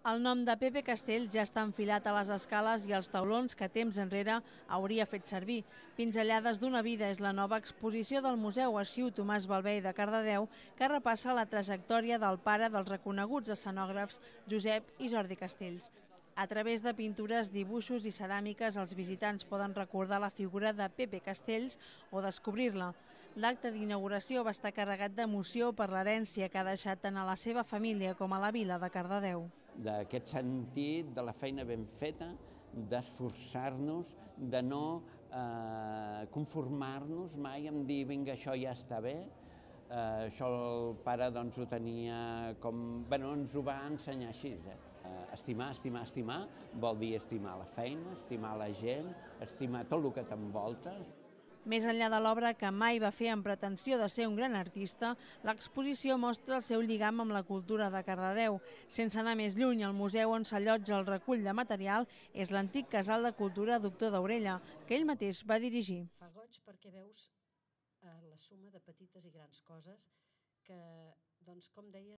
El nom de Pepe Castells ja està enfilat a les escales i als taulons que temps enrere hauria fet servir. Pinzellades d'una vida és la nova exposició del Museu Arxiu Tomàs Balvey de Cardedeu, que repassa la trajectòria del pare dels reconeguts escenògrafs Josep i Jordi Castells. A través de pintures, dibuixos i ceràmiques, els visitants poden recordar la figura de Pepe Castells o descobrir-la. L'acte d'inauguració va estar carregat d'emoció per l'herència que ha deixat tant a la seva família com a la vila de Cardedeu. D'aquest sentit, de la feina ben feta, d'esforçar-nos, de no conformar-nos mai en dir vinga, això ja està bé. Això el pare doncs, ho tenia com... Bueno, ens ho va ensenyar així. Estimar, estimar, estimar vol dir estimar la feina, estimar la gent, estimar tot el que t'envolta. Més enllà de l'obra que mai va fer amb pretensió de ser un gran artista, l'exposició mostra el seu lligam amb la cultura de Cardedeu. Sense anar més lluny, el museu on s'allotja el recull de material és l'antic casal de cultura Doctor d'Aurella, que ell mateix va dirigir. Fa goig perquè veus la suma de petites i grans coses que, doncs, com deia,